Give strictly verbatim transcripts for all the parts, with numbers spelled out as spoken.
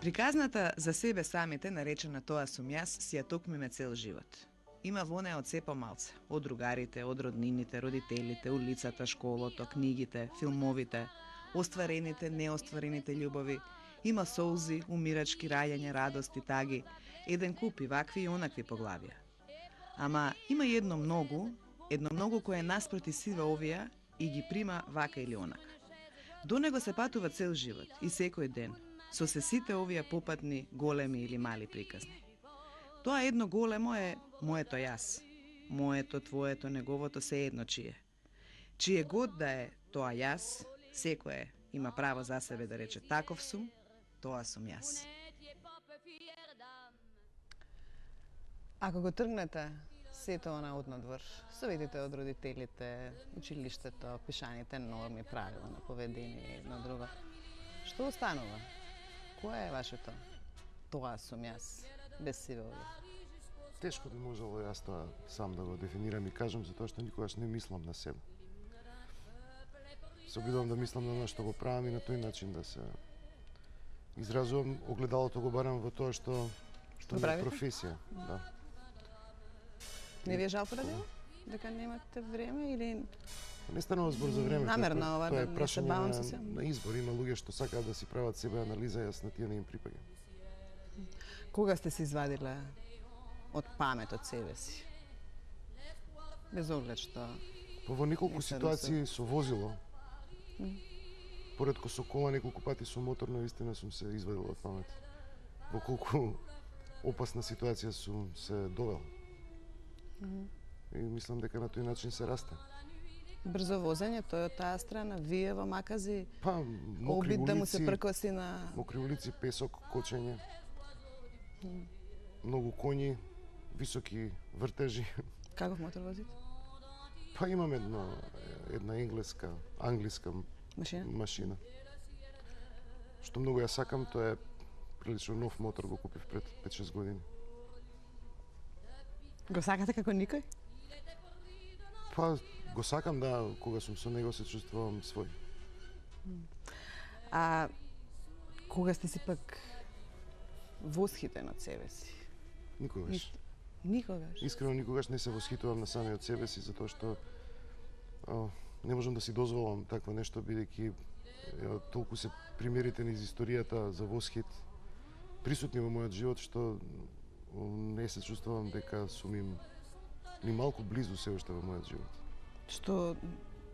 Приказната за себе самите, наречена Тоа сум јас, си ја токмиме цел живот. Има во неа од се помалце, од другарите, од роднините, родителите, улицата, школото, книгите, филмовите, остварените, неостварените љубови. Има солзи, умирачки, раѓања, радости, таги, еден куп и вакви и онакви поглавија. Ама има едно многу, едно многу кое е наспроти сиве овија и ги прима вака или онака. До него се патува цел живот и секој ден, со се сите овие попатни, големи или мали приказни. Тоа едно големо е моето јас, моето, твоето, неговото, се едно чие. Чие год да е тоа јас, секој има право за себе да рече таков сум, тоа сум јас. Ако го тргнете сето она однадвор, советите од родителите, училиштето, пишаните норми, правила на поведение едно друго, што останува? Кое е вашето тоа сум јас, без сиве овие? Тешко би можело јас тоа сам да го дефинирам и кажам, затоа што никогаш не мислам на себе. Се обидувам да мислам на оно што го правам и на тој начин да се изразувам. Огледалото го барам во тоа што што ми е професија. Да. Не ви е жал поради дека немате време или не станува збор за време? Намерно ова да не се бавам со се. На избор има луѓе што сакаат да си прават себе анализа, јас на тие не им припаѓам. Кога сте се извадиле од памет од себе си? Без оглед што Па во неколку ситуации со возило. Поредко со кола, неколку пати со моторно, истина сум се извадил од памет. Во колку опасна ситуација сум се довел. И мислам дека на тој начин се расте. Брзо возење, тој од таа страна, вие во Макази, па, мокри обид улици, да му се пркоси на... Мокри улици, песок, кочење, mm. многу коњи, високи вртежи. Каков мотор возите? Па имам една, една енглеска, англиска машина? машина. Што многу ја сакам, тоа е прилично нов мотор, го купив пред пет-шест години. Го сакате како никој? Па, го сакам, да, кога сум со него се чувствувам свој. А кога сте си пак восхитен од себе си? Никогаш. Никогаш? Искрено никогаш не се восхитувам на самиот себе си, затоа што о, не можам да си дозволам такво нешто, бидејќи толку се примерите низ историјата за восхит присутни во мојот живот, што не се чувствувам дека сум им ни малку близу се уште во мојот живот. Што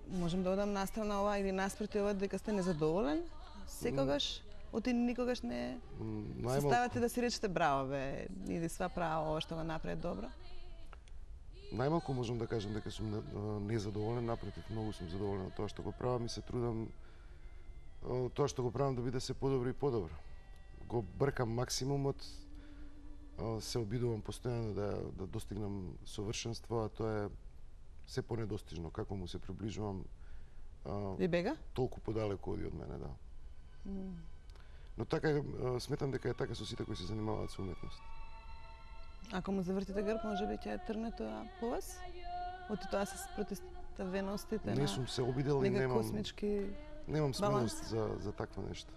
можам да одам настрана ова или наспроти ова дека сте незадоволен? Секогаш? Оти никогаш не се ставате да си речете браво бе, или сва право ова што го направи добро? Најмалку можам да кажам дека сум незадоволен, напротив, многу сум задоволен од тоа што го правам и се трудам тоа што го правам да биде се подобро и подобро. Го бркам максимумот, се обидувам постојано да, да достигнам совршенство, а тоа е се понедостижно. Како му се приближувам, Ви бега? Толку подалеку оди од мене, да. Mm. Но така, сметам дека е така со сите кои се занимаваат со уметност. Ако му завртите грб, може би ќе трне тоа по вас? Оти тоа се спротивеностите не сум се обидел и немам, космички немам смелост за, за такво нешто.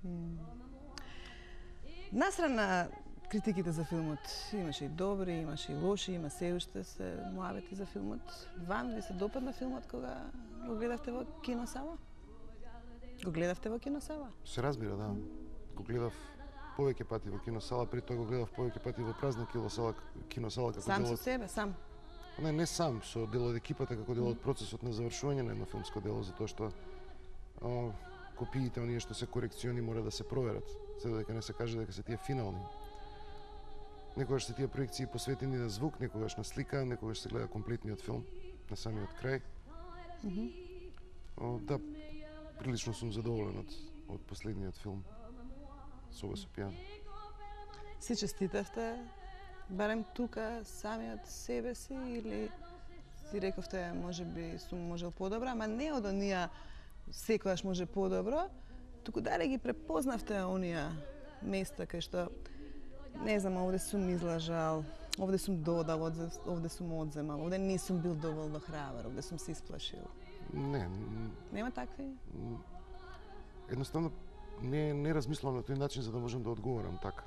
Mm. Настрана критиките за филмот, имаше и добри, имаше и лоши, има се уште се муавети за филмот. Вам ви се допадна филмот кога го гледавте во киносала? Го гледавте во киносала? Се разбира, да. Го гледав повеќе пати во киносала, при тоа го гледав повеќе пати во празна киносала, киносала како сам дел од... со себе, сам? Не, не сам, со дел од екипата, како дел од процесот на завршување на едно филмско дело, затоа што о, копиите, оние што се корекциони, мора да се проверат, за дека не се каже дека се тие финални. Некогаш се тие проекции посветени на звук, некогаш на слика, некогаш се гледа комплетниот филм, на самиот крај. Mm -hmm. О, да, прилично сум задоволен од, од последниот филм, Соба со пијано. Си честитавте, барем тука, самиот себе си, или си рековте, може би сум можел подобро, ама не од онија секојаш може подобро, туку дали ги препознавте онија места кај што не знам, овде сум излажал, овде сум додал, овде сум одземал, овде не сум бил доволно храбар, овде сум се исплашил. Не. Нема такви? Едноставно не не размислувам на тој начин за да можам да одговорам така.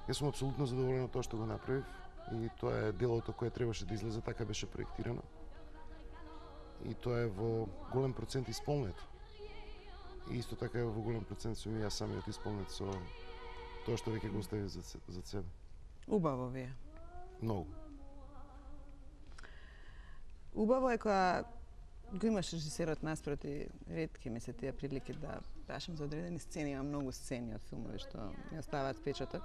Јас сум апсолутно задоволен од тоа што го направив и тоа е делото кое требаше да излезе, така беше проектирано. И тоа е во голем процент исполнето. И исто така е во голем процент сум и јас самиот исполнет со тоа што веќе го остави за, за себе. Убаво ви е. Многу. Убаво е кога го имаш режисерот наспроти, ретки ми се тие прилики да прашам за одредени сцени, има многу сцени од филмови што ми оставаат впечаток.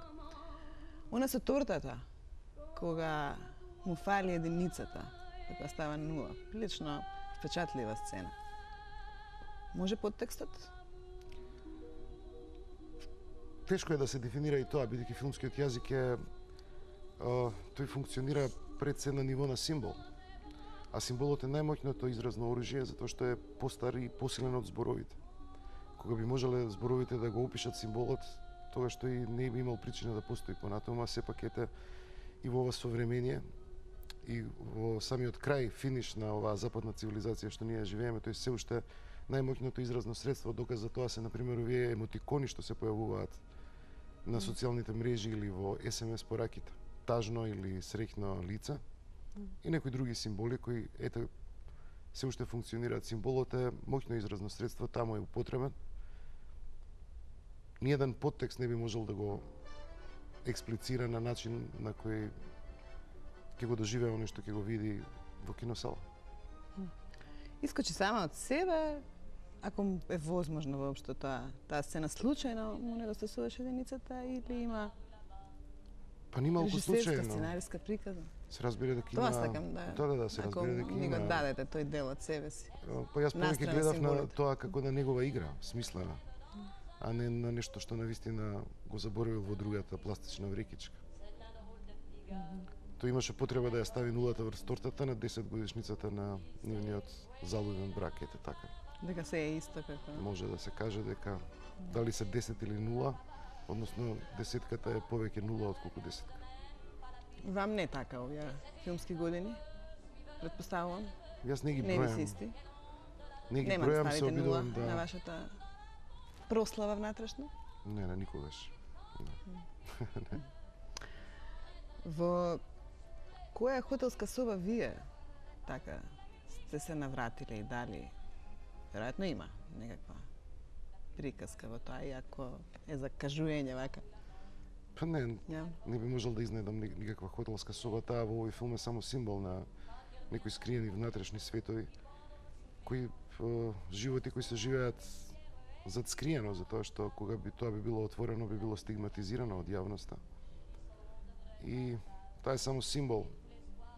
Она со тортата, кога му фали единицата, така става нула, прилично впечатлива сцена. Може подтекстот? Тешко е да се дефинира и тоа, бидејќи филмскиот јазик е а, тој функционира пред се на ниво на символ. А символот е најмоќното изразно оружје затоа што е постар и посилен од зборовите. Кога би можеле зборовите да го опишат символот, тогаш тој не би имал причина да постои понатаму, а сепак ете и во ова современие и во самиот крај, финиш на оваа западна цивилизација што ние живееме, тој се уште најмоќното изразно средство. Доказ за тоа се, например, овие емотикони што се појавуваат на социјалните мрежи или во ес ем ес пораките. Тажно или среќно лице и некои други символи кои ете се уште функционираат. Символот е моќно изразно средство, таму е употребен. Ниеден подтекст не би можел да го експлицира на начин на кој ќе го доживее оној што ќе го види во киносала. Искочи сама од себе, ако е возможно воопшто таа таа сцена случајно му недостасуваше единицата или има Па нималку режисерска, случајно. сценариска приказна? Се разбира дека има. Тоа сакам да. Да, да, да, се Ако разбира дека ми го има. дадете тој дел од себе си. Па јас повеќе Настрана гледав на символите. тоа како на негова игра, смислена, а не на нешто што навистина го заборавил во другата пластична врекичка. Тој имаше потреба да ја стави нулата врз тортата на десет годишницата на нивниот залуден брак, ете така. Дека се е исто како. Може да се каже дека дали се десет или нула, односно десетката е повеќе нула отколку десетка. Вам не така овие филмски години? Предпоставувам. Јас не ги Не ви се бројам. исти. Не ги Нема да бројам, се ставите нула обидувам на да. вашата прослава внатрешно? Не, не, никогаш. Во која хотелска соба вие така сте се навратиле и дали? Веројатно има некаква приказка во тоа, иако е за кажување вака. Па не, Ја. не би можел да изнедам ни- никаква хотелска соба. Таа во овој филм е само символ на некои скриени внатрешни светови, кои е, животи кои се живеат зад скриено, затоа што кога би тоа би било отворено, би било стигматизирано од јавноста. И тоа е само символ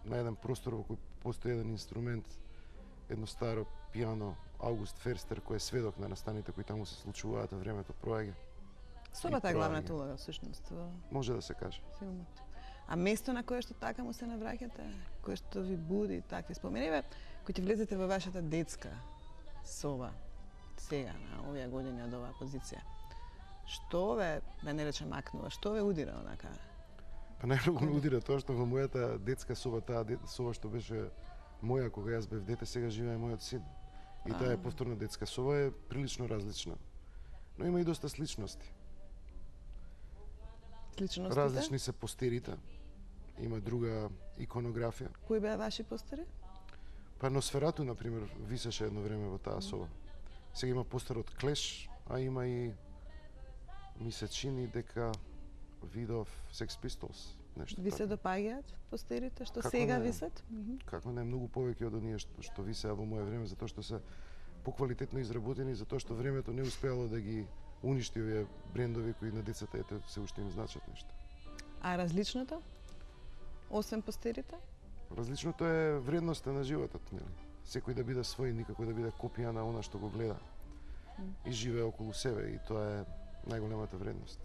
на еден простор во кој постои еден инструмент, едно старо пијано Аугуст Ферстер, кој е сведок на настаните кои таму се случуваат, а времето проаѓа. Собата И е главната проаѓа. улога всушност во Може да се каже. филмот. А место на кое што така му се навраќате, кое што ви буди такви спомени, бе, кој ќе влезете во вашата детска соба сега на овие години од оваа позиција. Што ве, да не речем макнува, што ве удира онака? Па најмногу ме удира тоа што во мојата детска соба, таа дет, соба што беше моја кога јас бев дете, сега живее мојот син. И таа е повторна детска соба, е прилично различна. Но има и доста сличности. Сличностите? Различни се постерите. Има друга иконографија. Кои беа ваши постери? Па Носферату, например, висеше едно време во таа соба. Сега има постер од Клеш, а има и ми се чини дека видов Sex Pistols, нешто Ви се така. допаѓаат постерите што Како сега не? висат? Мгм. Како не, многу повеќе од оние што, што висеа во моје време, затоа што се поквалитетно изработени, затоа што времето не успеало да ги уништи овие брендови кои на децата ете се уште им значат нешто. А различното? Освен постерите? Различното е вредноста на животот, нели? Секој да биде свој, никако да биде копија на она што го гледа и живее околу себе, и тоа е најголемата вредност.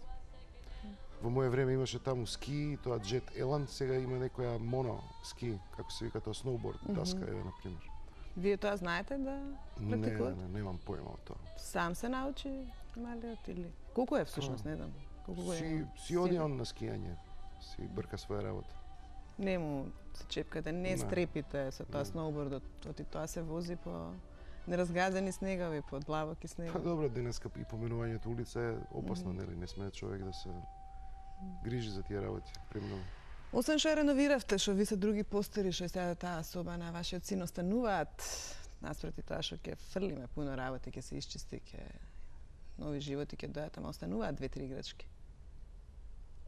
Во моје време имаше таму ски, тоа Jet Elan, сега има некоја моно ски, како се вика тоа, сноуборд, даска е, например. Вие тоа знаете да Не, не, практикувате? не, немам појма од тоа. Сам се научи малиот или колку е всушност, не знам. Колку го Си, е? си оди он на скијање, си брка своја работа. Не му се чепкате, не Не. стрепите со тоа Не. сноубордот, оти тоа се вози по неразгадени снегови под длабоки снег. Па добро, денеска и поменувањето улица е опасно, нели? Не сме човек да се грижи за тие работи премногу. Освен што реновиравте, што ви се други постери, што сега таа соба на вашиот син остануваат, наспроти тоа што ќе фрлиме пуно работи, ќе се исчисти, ќе нови животи ќе дојдат, ама остануваат две-три играчки.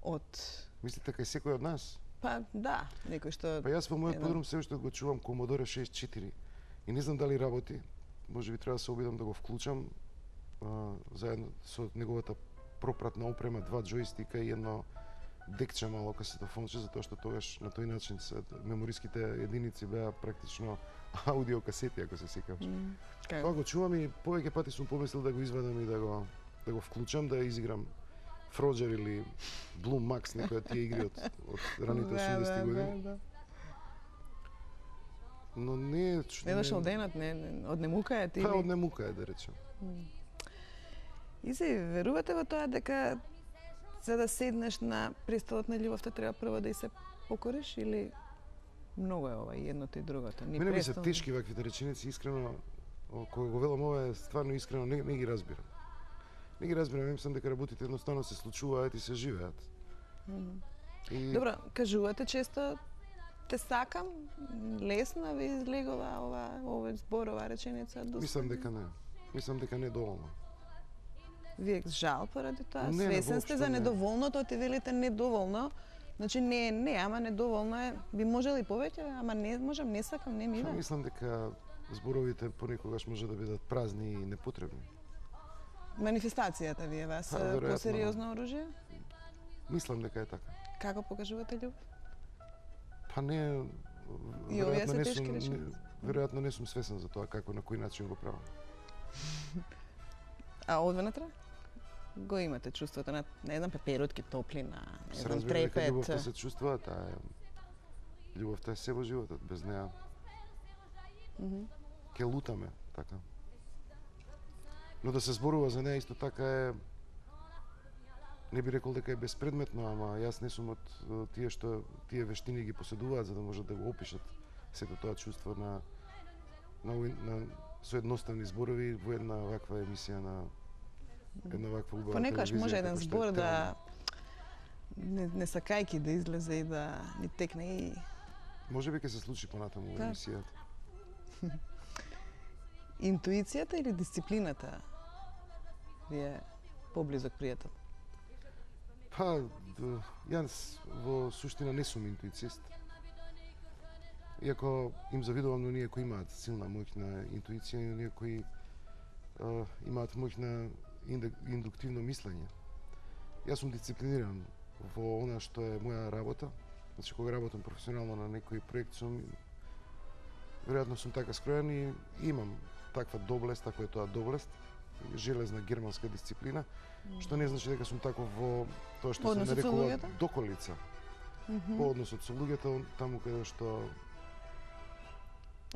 Од Мислите кај секој од нас? Па да, некој што Па јас во мојот подрум се уште го чувам Commodore шеесет и четири и не знам дали работи. Може би треба да се обидам да го вклучам а, заедно со неговата пропратна опрема, два џојстика и едно декче мало касетофонче, затоа што тогаш на тој начин се мемориските единици беа практично аудиокасети, ако се сеќаваш. Mm, Тоа го чувам и повеќе пати сум помислил да го извадам и да го да го вклучам, да изиграм Фроџер или Blue Max, некои од тие игри од, од раните осумдесети години. Да, да. Но не е... Не дошол денот, не, не однемука е ти? Па однемука е, да речем. И се верувате во тоа дека за да седнеш на престолот на љубовта треба прво да и се покориш или многу е ова и едното и другото? Ни Мене ми се престол... тешки ваквите реченици, искрено, кога го велам ова е стварно искрено, не, не ги разбирам. Не ги разбирам, мислам дека работите едноставно се случуваат и се живеат. Mm -hmm. И... Добро, кажувате често те сакам, лесно ви излегува ова, ова збор, ова реченица? Мислам дека не. Мислам дека не доволно. Вие жал поради тоа? Не, Свесен сте за не. недоволното, ти велите недоволно. Значи не е не, ама недоволно е. Би можели повеќе, ама не можам, не сакам, не ми Па, иде. мислам дека зборовите понекогаш може да бидат празни и непотребни. Манифестацијата ви е вас Па, веројатно, посериозно оружје? Мислам дека е така. Како покажувате љубов? Па не, И овие веројатно се не тешки сум, не, реченици. веројатно не сум свесен за тоа како на кој начин го правам. А одвнатре? Го имате чувството на, не знам, пеперутки, топлина, не Се знам, разбира дека трепет. љубовта се чувствува, таа е... Љубовта е се во животот, без неа Mm -hmm. ќе лутаме, така. Но да се зборува за неа исто така е... Не би рекол дека е безпредметно, ама јас не сум од е, тие што тие вештини ги поседуваат за да можат да го опишат сето тоа чувство на на, уи- на со едноставни зборови во една ваква емисија на една ваква убава Понекогаш телевизија може еден како што е збор да Телма. не, не сакајки да излезе и да ни текне и Може би ќе се случи понатаму во Да. емисијата. интуицијата или дисциплината ви е поблизок пријател? Па, д- јас во суштина не сум интуицист. Иако им завидувам на оние кои имаат силна моќна интуиција и оние кои а, имаат моќна инде- индуктивно мислење. Јас сум дисциплиниран во она што е моја работа. Значи, кога работам професионално на некој проект, сум веројатно сум така скроен и имам таква доблест, ако е тоа доблест, железна германска дисциплина, што не значи дека сум таков во тоа што се Односот со нарекува луѓето? доколица. Мгм. По односот со луѓето, таму каде што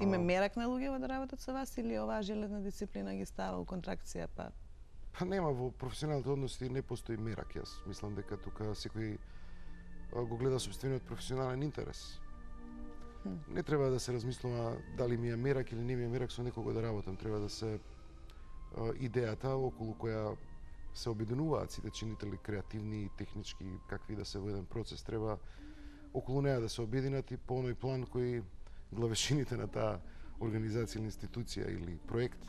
Има а, мерак на луѓе да работат со вас или оваа железна дисциплина ги става у контракција, па Па нема, во професионалните односи не постои мерак. Јас мислам дека тука секој а, го гледа собствениот професионален интерес. Хм. Не треба да се размислува дали ми е мерак или не ми е мерак со некого да работам. Треба да се а, идејата околу која се обединуваат сите чинители креативни и технички, какви да се во еден процес, треба околу неа да се обединат и по оној план кој главешините на таа организација или институција или проект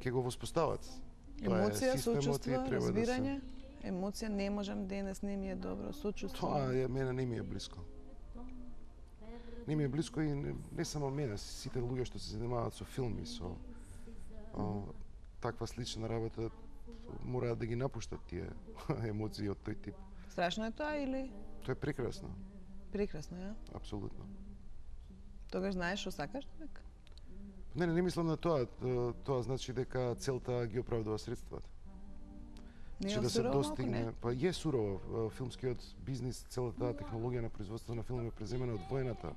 ќе го воспостават. Тоа е емоција, системот и сочувство, треба да се- разбирање. Емоција не можам денес, не ми е добро, сочувство. Тоа е мене не ми е блиско. Не ми е блиско и не, не само мене, сите луѓе што се занимаваат со филми, со а, таква слична работа, мораат да ги напуштат тие емоции од тој тип. Страшно е тоа или Тоа е прекрасно, прекрасно, ја? апсолутно. Тогаш знаеш што сакаш човек? Не, не, не мислам на тоа. Тоа, тоа значи дека целта ги оправдува средствата. Не Че е да се сурово, достигне, не? па е сурово. А, филмскиот бизнис, целата таа технологија на производство на филм е преземена од воената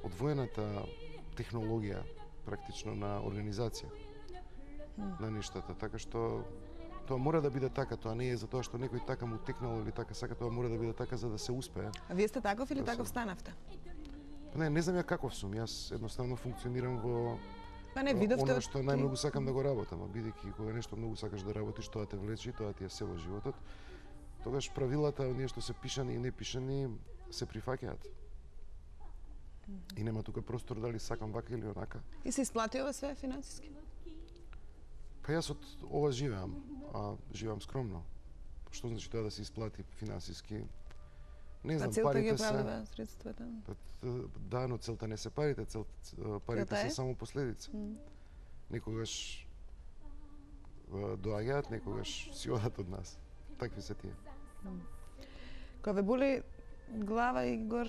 од воената технологија практично на организација на нештата, така што тоа мора да биде така, тоа не е за тоа што некој така му текнал или така сака, тоа мора да биде така за да се успее. А вие сте таков или Да се- таков станавте? Не, не знам ја каков сум, јас едноставно функционирам во Па не видовте Оно од што најмногу сакам да го работам, а бидејќи кога нешто многу сакаш да работиш, тоа те влече и тоа ти е се во животот. Тогаш правилата, оние што се пишани и не пишани, се прифаќаат. И нема тука простор дали сакам вака или онака. И се исплати ова све финансиски? Па јас од ова живеам, а живеам скромно. Што значи тоа да се исплати финансиски? Не знам, па целта ги парите се... оправдава средствата? Да, но целта не се парите, цел... парите Целта е? се само последица. Mm. Некогаш доаѓаат, некогаш си одат од нас. Такви се тие. Mm. Кога ве боли глава и гор,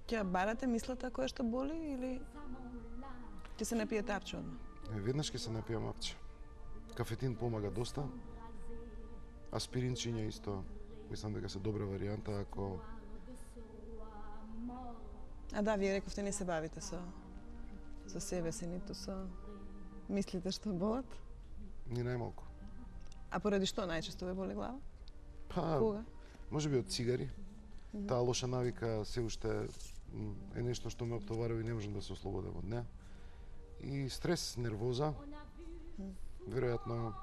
ќе барате мислата која што боли или ќе се напиете апче одма? Веднаш ќе се напијам апче. Кафетин помага доста. Аспиринчиња исто. Мислам дека се добра варијанта ако... А да, вие рековте не се бавите со со себе си, ниту со мислите што болат? Ни најмалку. А поради што најчесто ве боли глава? Па, Кога? може би од цигари. Mm -hmm. Таа лоша навика се уште е нешто што ме оптоварува и не можам да се ослободам од неа. И стрес, нервоза. Веројатно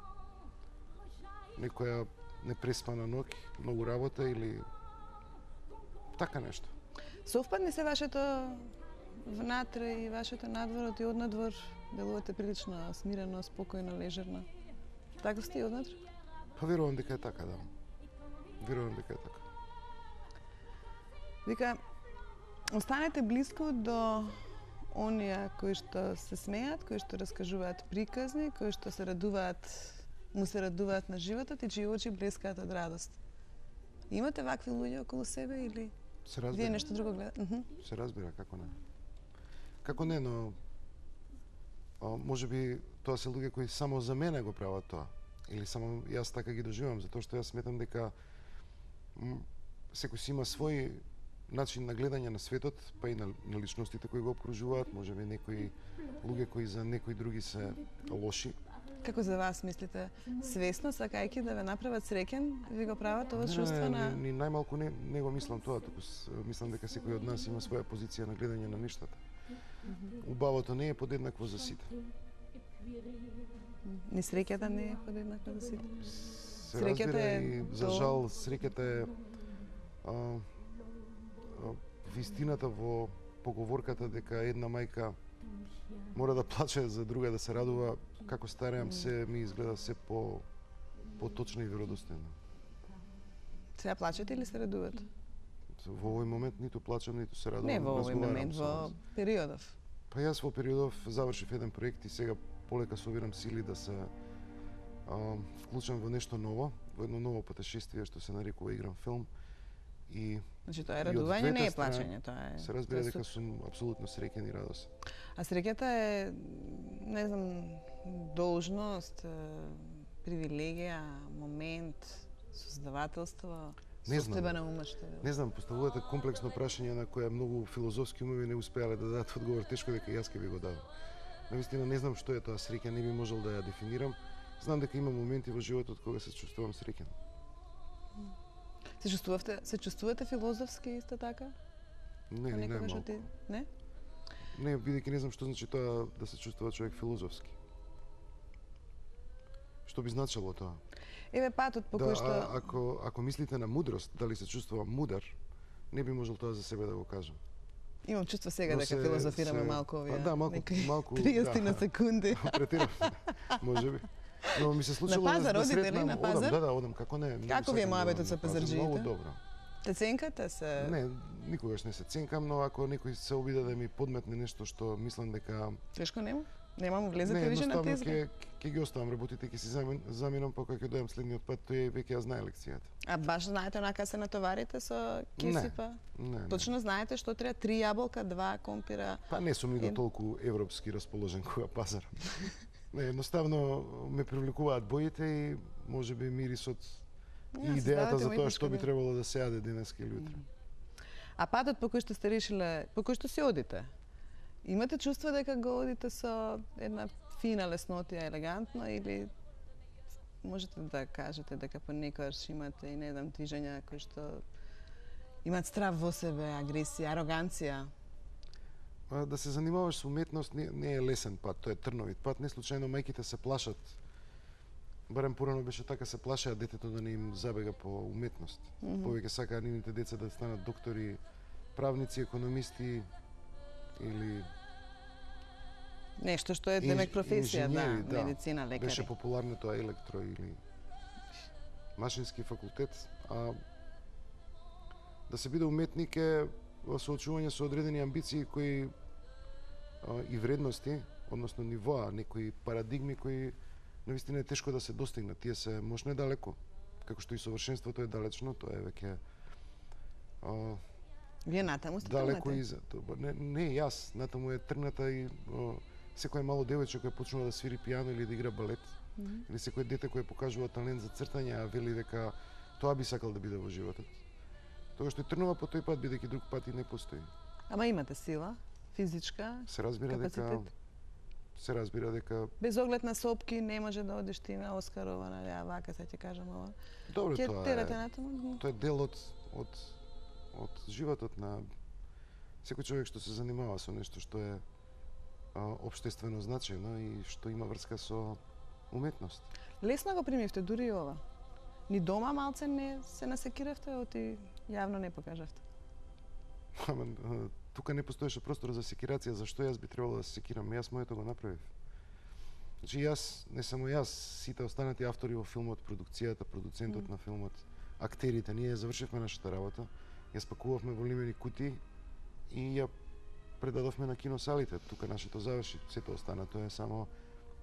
некоја непреспана ноќ, многу работа или така нешто. Совпадни се вашето внатре и вашето надворот и однадвор? Делувате прилично смирено, спокојно, лежерно. Така сте и однатре? Па верувам дека е така, да. Верувам дека е така. Вика, останете близко до оние кои што се смеат, кои што раскажуваат приказни, кои што се радуваат, му се радуваат на животот и чии очи блескаат од радост. Имате вакви луѓе околу себе или Се разбира. вие нешто друго гледате? Uh-huh. Се разбира, како не. Како не, но а, може би тоа се луѓе кои само за мене го прават тоа. Или само јас така ги доживам, затоа што јас сметам дека м, секој си има свој начин на гледање на светот, па и на, на личностите кои го обкружуваат, може би некои луѓе кои за некои други се лоши. Како за вас мислите? Свесно, сакајќи да ве направат среќен, ви го прават ова Не, чувство на... Ни, ни најмалку не, не го мислам тоа, туку с- мислам дека секој од нас има своја позиција на гледање на нештата. Убавото не е подеднакво за сите. Ни среќата не е подеднаква за сите. Се Среќата разбира е и за тоа. жал среќата е а, а, вистината во поговорката дека една мајка мора да плаче за друга да се радува. Како стареам се ми изгледа се по поточно и веродостојно. Сега плачете или се радувате? Во овој момент ниту плачам, ниту се радувам. Не во овој разговарам момент, со во вас. периодов. Па јас во периодов завршив еден проект и сега полека собирам сили да се а, вклучам во нешто ново, во едно ново путешествие што се нарекува Играм филм. И Значи тоа е И од радување, двете не е страни плачење, тоа е. се разбира тоа е дека супер. сум апсолутно среќен и радосен. А среќата е, не знам, должност, е, привилегија, момент, создавателство, Не знам. состојба на умот што е. Не знам, поставувате комплексно прашање на која многу филозофски умови не успеале да дадат одговор, тешко дека јас ќе ви го дадам. Навистина не знам што е тоа среќа, не би можел да ја дефинирам. Знам дека има моменти во животот кога се чувствувам среќен. Се чувствувате, се чувствувате филозофски исто така? Не, не, не, Понекогаш малку. оти- Не? Не, бидејќи не знам што значи тоа да се чувствува човек филозофски. Што би значило тоа? Еве патот по Да, кој што... а, ако, ако мислите на мудрост, дали се чувствувам мудар, не би можел тоа за себе да го кажам. Имам чувство сега Но дека се- филозофираме се- малку овие. па да, малку- некои малку, триесет на да. секунди. Претирав, може би. Но ми се случило На пазар да, да одите ли? сретнам, На одам, пазар? да, да, одам, како не. многу Како ви е сакам да моабетот одам со на пазар, пазарџиите? Многу добро. Те ценкате се? Не, никогаш не се ценкам, но ако некој се обиде да ми подметне нешто што мислам дека Тешко нема? Нема му влезете не, више на едноставно тезга? ќе ќе ги оставам работите, ќе си замен, заминам, па кога ќе дојдам следниот пат, тој веќе ја знае лекцијата. А баш знаете онака се натоварите со кесипа? Не, не. Точно знаете што треба? Три јаболка, два компира. Па не сум ни до Ед- толку европски расположен кога пазарам. Не, едноставно ме привлекуваат боите и можеби мирисот и Ја, идејата создавате за тоа уметничка што би идеја. требало да се јаде денеска или утре. А патот по кој што сте решиле, по кој што си одите, имате чувство дека го одите со една фина леснотија, елегантно, или можете да кажете дека понекогаш имате и не знам движења кои што имаат страв во себе, агресија, ароганција? А, да се занимаваш со уметност не, не е лесен пат, тоа е трновит пат. Не случајно мајките се плашат. Барем порано беше така, се плашеа детето да не им забега по уметност. Mm -hmm. Повеќе сакаа нивните деца да станат доктори, правници, економисти или нешто што е демек професија, да, да, медицина, лекари. Беше популарно тоа електро или машински факултет, а да се биде уметник е соочување со одредени амбиции кои а, и вредности, односно нивоа, некои парадигми кои навистина е тешко да се достигнат. Тие се можно далеко, како што и совршенството е далечно, тоа е веќе а, Вие натаму сте далеко и за тоа. Не, не јас, натаму е тргната и а, секој мало девојче кој почнува да свири пијано или да игра балет, mm -hmm. или секој дете кој покажува талент за цртање, а вели дека тоа би сакал да биде во животот. Тоа што трнува по тој пат, бидејќи друг пат и не постои. Ама имате сила, физичка, се разбира капацитет? дека се разбира дека без оглед на сопки не може да одиш ти на Оскарова, нали, а вака се ќе кажам ова. Добро, Ќе тоа терате е, натаму? тоа е дел од од од животот на секој човек што се занимава со нешто што е а, општествено значајно и што има врска со уметност. Лесно го примивте дури и ова. Ни дома малце не се насекиравте, оти јавно не покажавте. Ама тука не постоеше простор за секирација, зашто јас би требало да се секирам? Јас моето го направив. Значи јас, не само јас, сите останати автори во филмот, продукцијата, продуцентот mm. на филмот, актерите, ние завршивме нашата работа, ја спакувавме во лимени кутии и ја предадовме на киносалите. Тука нашето заврши, сето остана, тоа е само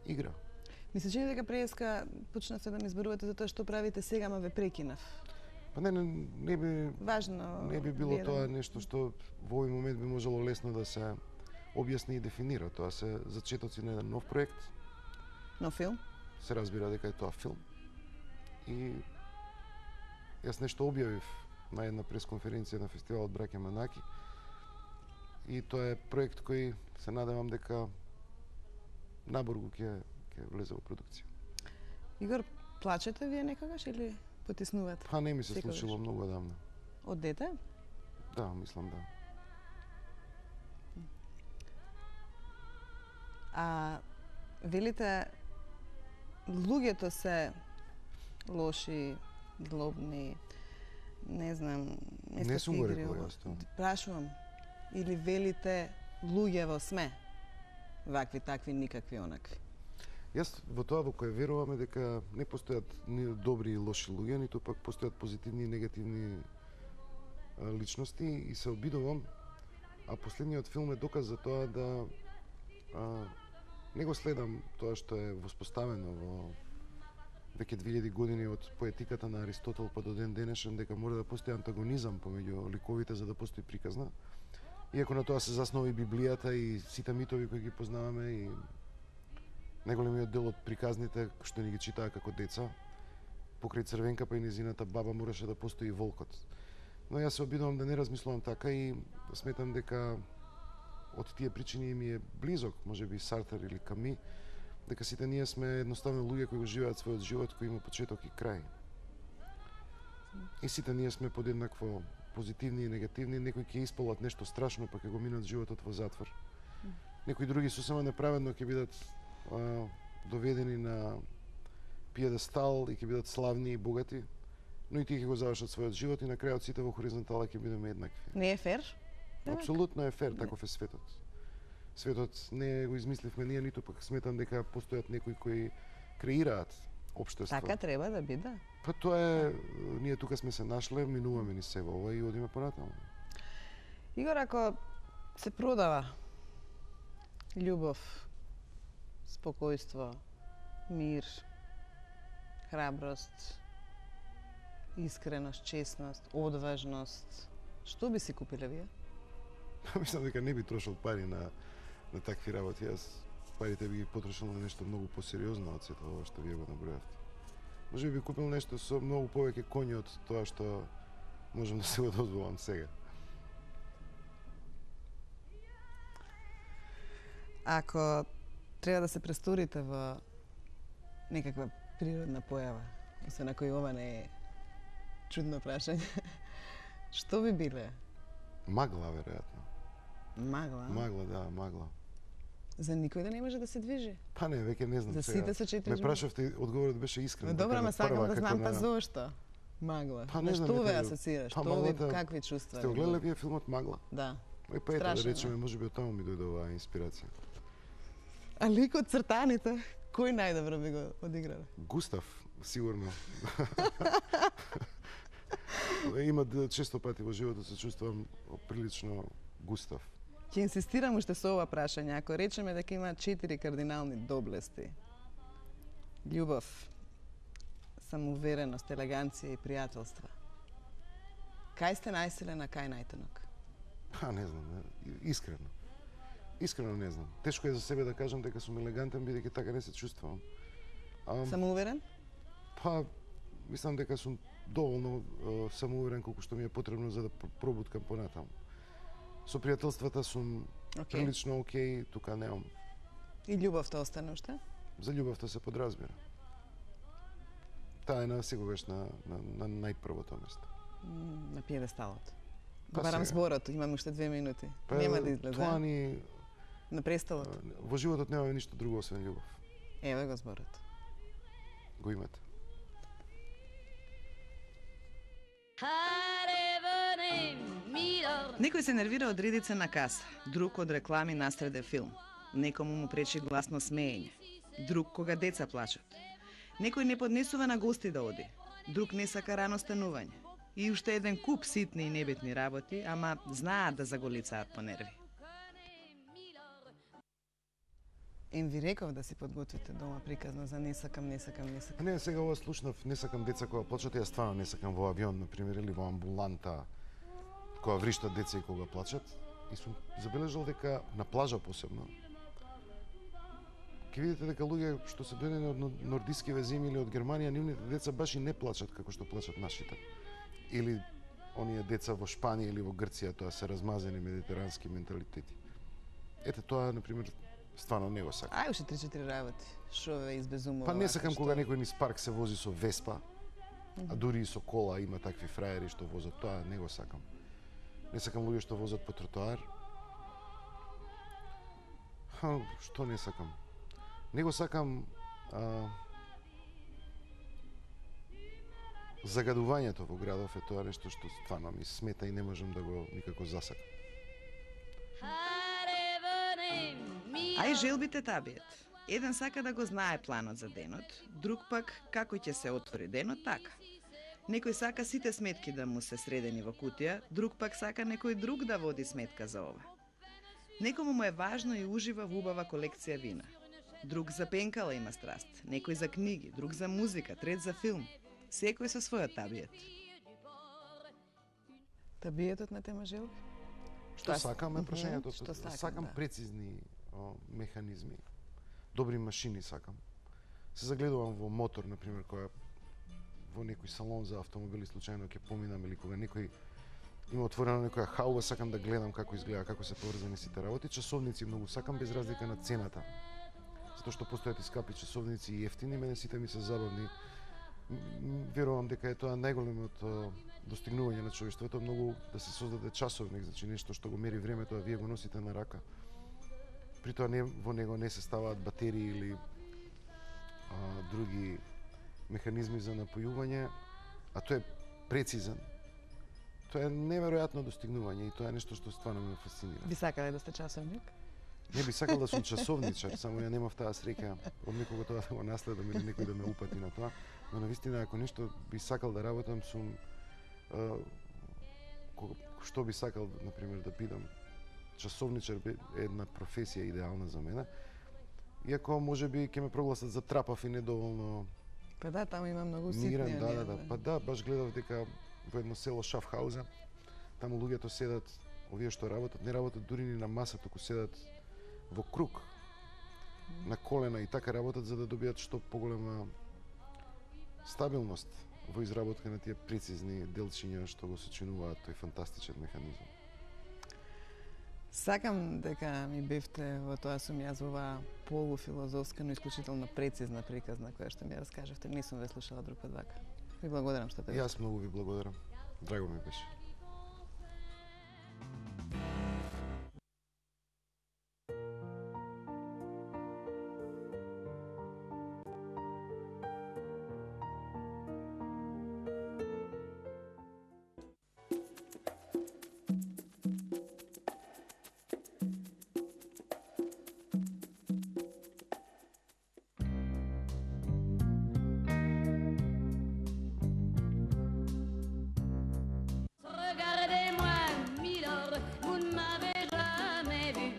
игра. Ми се чини дека преска почнавте да ми зборувате за тоа што правите сега, ма ве прекинав. Па не, не, не би Важно. Не би било вие тоа нешто што во овој момент би можело лесно да се објасни и дефинира. Тоа се зачетоци на еден нов проект. Нов филм? Се разбира дека е тоа филм. И јас нешто објавив на една пресконференција на фестивалот Браќа Манаки. И тоа е проект кој се надевам дека наборго ќе ќе влезе во продукција. Игор, плачете вие некогаш или потиснувате? Па не ми се Секогаш? случило многу одамна. Од дете? Да, мислам да. А велите луѓето се лоши, злобни, не знам, не, Не сум го рекол ова. јас тоа. Прашувам, или велите луѓево сме вакви, такви, никакви, онакви? Јас во тоа во кое веруваме дека не постојат ни добри и лоши луѓе, ниту пак постојат позитивни и негативни а, личности и се обидувам, а последниот филм е доказ за тоа да а, не го следам тоа што е воспоставено во веќе две илјади години од поетиката на Аристотел па до ден денешен, дека мора да постои антагонизам помеѓу ликовите за да постои приказна. Иако на тоа се заснова и Библијата и сите митови кои ги познаваме и најголемиот дел од приказните што ни ги читаа како деца, покрај Црвенка па и незината баба мораше да постои волкот. Но јас се обидувам да не размислувам така и сметам дека од тие причини ми е близок, можеби Сартер или Ками, дека сите ние сме едноставно луѓе кои го живеат својот живот кој има почеток и крај. И сите ние сме подеднакво позитивни и негативни, некои ќе исполат нешто страшно па ќе го минат животот во затвор. Некои други сосема неправедно ќе бидат а, доведени на пиедестал и ќе бидат славни и богати, но и тие ќе го завршат својот живот и на крајот сите во хоризонтала ќе бидеме еднакви. Не е фер? Апсолутно е фер, таков е светот. Светот не го измисливме ние, ниту пак сметам дека постојат некои кои креираат општество. Така треба да биде. Па тоа е, ние тука сме се нашле, минуваме ни се во ова и одиме понатаму. Игор, ако се продава љубов, спокојство, мир, храброст, искреност, честност, одважност, што би си купиле вие? Мислам дека не би трошил пари на на такви работи. Јас парите би ги потрошил на нешто многу посериозно од сето ова што вие го набројавте. Може би купил нешто со многу повеќе коњи од тоа што можам да се го дозволам сега. Ако треба да се престорите во некаква природна појава, освен ако и ова не е чудно прашање, што би биле? Магла, веројатно. Магла? Магла, да, магла. За никој да не може да се движи? Па не, веќе не знам За сега. сите со четири Ме жмури. прашавте, одговорот беше искрен. Добро, дека ама сакам прва да како знам па на- зошто. Магла. Па не На знам, што ве ете, асоцираш? па Што ви, маглата- какви чувства? Сте ви огледале буди? вие филмот Магла? Да. Ој па ете, да Страшно, речеме, да. можеби од таму ми дојде оваа инспирација. А ликот цртаните, кој најдобро би го одиграл? Густав, сигурно. Има д- често пати во животот се чувствувам прилично Густав. Ќе инсистирам уште со ова прашање. Ако речеме дека има четири кардинални доблести: љубов, самоувереност, елеганција и пријателство. Кај сте најсилен, а кај најтенок? Па не знам, не, искрено. Искрено не знам. Тешко е за себе да кажам дека сум елегантен, бидејќи така не се чувствувам. А, Самоуверен? па, мислам дека сум доволно е, самоуверен колку што ми е потребно за да пр- пробуткам понатаму. Со пријателствата сум Океј. прилично окей, тука немам. И љубовта остане уште? За љубовта се подразбира. Таа е на секогаш на, на, на најпрвото место. М, На пиедесталот. Па Го барам сега. зборот, имам уште две минути. Па, Нема да излезе. Тоа ни На престолот. во животот немаме ништо друго освен љубов. Еве го зборот. Го имате. Некој се нервира од редица на каса, друг од реклами насреде филм. Некому му пречи гласно смеење, друг кога деца плачат. Некој не поднесува на гости да оди, друг не сака рано станување. И уште еден куп ситни и небитни работи, ама знаат да заголицаат по нерви. Ем ви реков да си подготвите дома приказна за не сакам, не сакам, не сакам. Не, сега ова слушнав, не сакам деца кога плачат, ја стварно не сакам во авион, например, или во амбуланта, кога вриштат деца и кога плачат. И сум забележал дека на плажа посебно, ќе видите дека луѓе што се дојдени од нор- нордискиве земји или од Германија, нивните деца баш и не плачат како што плачат нашите. Или оние деца во Шпанија или во Грција, тоа се размазени медитерански менталитети. Ете тоа, например, стварно не го сакам. Ај уште три-четири работи. Шо ве избезумува? Па не вака, сакам што- кога некој низ парк се вози со Веспа, а дури и со кола има такви фраери што возат, тоа не го сакам. Не сакам луѓе што возат по тротоар. Ха, што не сакам? Не го сакам а, загадувањето во градов е тоа нешто што стварно ми смета и не можам да го никако засакам. А и желбите табиет. Еден сака да го знае планот за денот, друг пак како ќе се отвори денот така. Некој сака сите сметки да му се средени во кутија, друг пак сака некој друг да води сметка за ова. Некому му е важно и ужива во убава колекција вина. Друг за пенкала има страст, некој за книги, друг за музика, трет за филм. Секој со својот табиет. Табиетот на тема желби? Што Тоа- сакам е Мгм, прашањето. што сакам, сакам да. прецизни о, механизми. Добри машини сакам. Се загледувам во мотор, например, која во некој салон за автомобили случајно ќе поминам или кога некој има отворена некоја хауба, сакам да гледам како изгледа, како се поврзани сите работи. Часовници многу сакам без разлика на цената. Затоа што постојат и скапи часовници и ефтини, мене сите ми се забавни. М, м, Верувам дека е тоа најголемото о, достигнување на човештвото, многу да се создаде часовник, значи нешто што го мери времето, а вие го носите на рака. При тоа не, во него не се ставаат батерии или а, други механизми за напојување, а тој е прецизен. Тоа е неверојатно достигнување и тоа е нешто што стварно ме фасцинира. Би сакале да сте часовник? Не би сакал да сум часовничар, само ја немав таа среќа од некого тоа да го наследам или некој да ме упати на тоа. Но навистина, ако нешто би сакал да работам, сум а, кога, што би сакал, например, да бидам часовничар би е една професија идеална за мене. Иако можеби ќе ме прогласат за трапав и недоволно Па да, таму има многу ситни. мирен, да, оние, да, да. Па да, баш гледав дека во едно село Шафхаузен, таму луѓето седат, овие што работат, не работат дури ни на маса, туку седат во круг, на колена и така работат за да добијат што поголема стабилност во изработка на тие прецизни делчиња што го сочинуваат тој фантастичен механизам. Сакам дека ми бевте во тоа сум јас во оваа полуфилозофска, но исклучително прецизна приказна која што ми ја раскажавте. Не сум ве слушала друг пат вака. Ви благодарам што те И јас многу ви благодарам. Драго ми беше. vous ne m'avez jamais vu.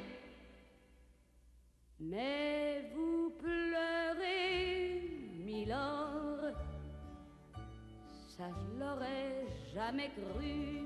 Mais vous pleurez, Milord, ça je l'aurais jamais cru.